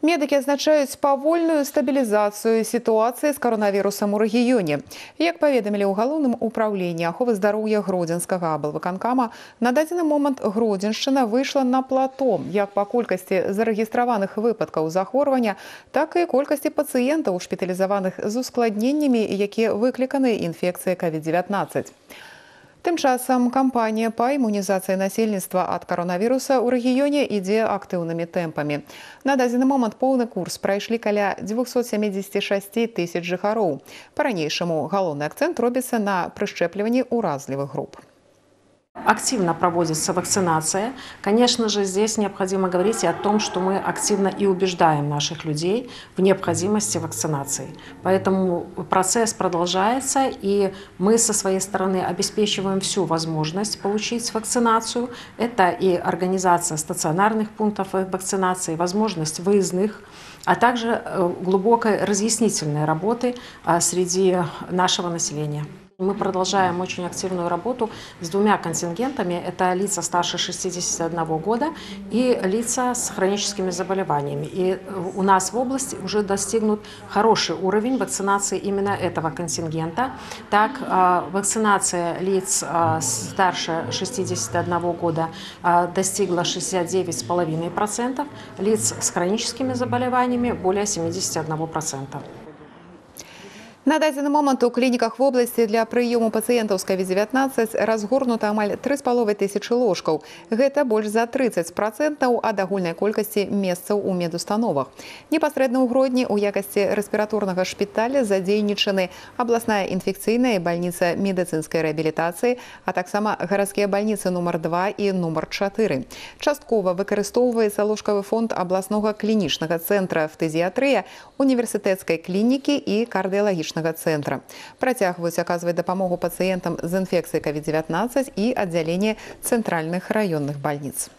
Медики адзначаюць павольную стабілізацыю сітуацыі з каронавірусам у рэгіёне. Як паведамілі ў галоўным управленні аховы здароўя Гродзенскага аблвыканкама, на дадзены момант Гродзеншчына выйшла на плато як па колькасці зарэгістраваных выпадкаў захворвання, так і колькасці пацыентаў, шпіталізаваных з ускладненнямі, якія выкліканы інфекцыяй COVID-19. Тым часам кампанія па імунізацыі насельніцтва ад каронавіруса ў рэгіёне ідзе актыўнымі тэмпамі. На дадзены момант поўны курс прайшлі каля 276 тысяч жыхароў. Па-ранейшаму галоўны акцэнт робіцца на прышчэпліванні ўразлівых груп. Активно проводится вакцинация. Конечно же, здесь необходимо говорить и о том, что мы активно и убеждаем наших людей в необходимости вакцинации. Поэтому процесс продолжается, и мы со своей стороны обеспечиваем всю возможность получить вакцинацию. Это и организация стационарных пунктов вакцинации, возможность выездных, а также глубокой разъяснительной работы среди нашего населения. Мы продолжаем очень активную работу с двумя контингентами. Это лица старше 61 года и лица с хроническими заболеваниями. И у нас в области уже достигнут хороший уровень вакцинации именно этого контингента. Так, вакцинация лиц старше 61 года достигла 69,5%, лиц с хроническими заболеваниями более 71%. На дадзены момант у клініках вобласці для прыёму пацыентаў з COVID-19 разгорнута амаль 3,5 тысячы ложкаў. Гэта больш за 30% ад агульнай колькасці месцаў у медустановах. Непасрэдна ў Гродні ў якасці рэспіраторнага шпіталя задзейнічаны абласная інфекцыйная бальніца медыцынскай рэабілітацыі, а таксама гарадскія бальніцы нумар 2 і нумар 4. Часткова выкарыстоўваецца ложкавы фонд абласнога клінічнага цэнтра фтызіатрыя, універсітэцкай клінікі і кардыялагічнага центра. Працягваюць аказваць дапамогу пацыентам з інфекцыяй COVID-19 і аддзяленне цэнтральных раённых бальніц.